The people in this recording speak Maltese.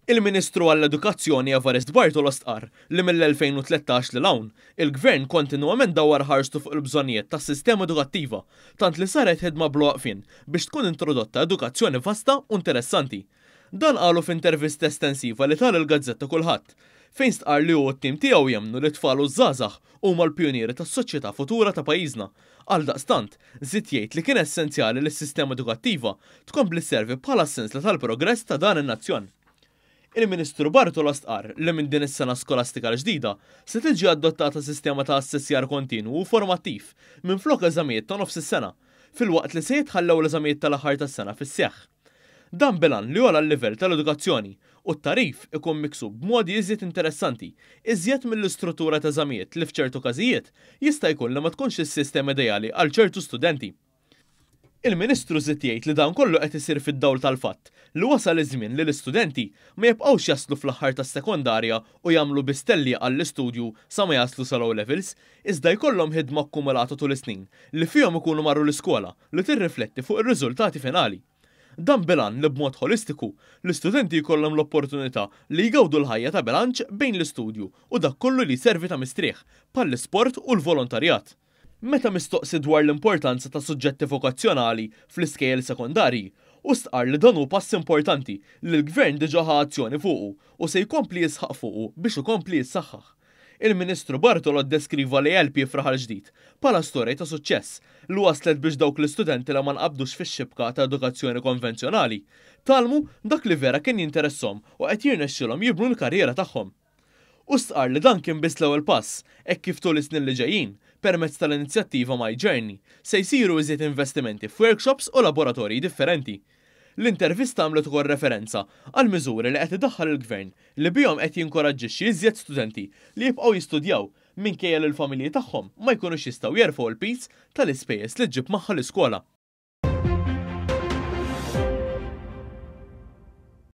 Il-Ministru għall-Edukazzjoni Evarist Bartolo stqarr li mill-2013 lil hawn, il-Gvern kontinwament dawwar ħarstu fuq il-bżonnijiet tas-sistema edukattiva, tant li saret ħidma bla waqfien biex tkun introdotta edukazzjoni vasta u interessanti. Dan qalu f'intervista estensiva li ta lill-gazzetta Kullħadd, fejn stqarr li hu u t-tim tiegħu jemmnu li t-tfal u ż-żgħażagħ huma l-pijunieri tas-soċjetà futura ta' pajjiżna. Għaldaqstant, żied jgħid li kien essenzjali li s-sistema edukattiva tkompli sservi bħala s-sensla tal-progress ta' dan in-nazzjon. Il-Ministru Bartolo stqarr li minn din is-sena skolastika l-ġdida se tiġi adottata sistema ta' assessjar kontinwu u formattiv minflok eżamijiet ta' nofs is-sena, filwaqt li se jitħallew l-eżamijiet tal-aħħar tas-sena fis-seħħ. Dan bil-għan li jogħla l-livell tal-edukazzjoni u t-tagħrif ikun miksub b'modi iżjed interessanti, iżjed mill-istruttura ta' eżamijiet li f'ċertu każijiet jista' jkun li ma tkunx is-sistema ideali għal ċertu studenti. Il-Ministru żied jgħid li dan kollu qed isir fid-dawl tal-fatt li wasal iż-żmien li l-istudenti ma jibqgħux jaslu fl-aħħar tas-sekondarja u jagħmlu biss tellieqa għall-istudju sa ma jaslu sal-O Levels, iżda jkollhom ħidma akkumulata tul is-snin li fihom ikunu marru l-iskola li tirrifletti fuq ir-riżultati finali. Dan bil-għan li b'mod ħolistiku, l-istudenti jkollhom l-opportunità li jgawdu l-ħajja ta' bilanċ bejn l-istudju u dak kollu li jservi ta' mistrieħ, bħall-isport u l-volontarjat. Meta mistoqsi dwar l-importanza ta' suġġetti vokazzjonali fl-iskejjel sekondarji, hu stqarr li dan hu pass importanti li l-Gvern diġà ħa azzjoni fuqu u se jkompli jisħaq fuqu biex ikompli jissaħħaħ. Il-Ministru Bartolo ddeskriva l-ALP f'Raħal Ġdid bħala storja ta' suċċess li wasslet biex dawk l-istudenti li ma nqabdux fix-xibka ta' edukazzjoni konvenzjonali tgħallmu dak li vera kien jinteresshom u qed jirnexxilhom jibnu l-karriera tagħhom. Hu stqarr li dan kien biss l-ewwel pass, hekk kif tul is-snin li ġejjin, permezz tal-inizjattiva My Journey, se jsiru iżjed investimenti f'workshops u laboratorji differenti. L-intervista għamlet ukoll referenza għal miżuri li qed idaħħal il-Gvern li bihom qed jinkoraġġixxi iżjed studenti li jibqgħu jistudjaw minkejja li l-familji tagħhom ma jkunux jistgħu jerfgħu l-piż tal-ispejjeż li ġġib magħha l-iskola.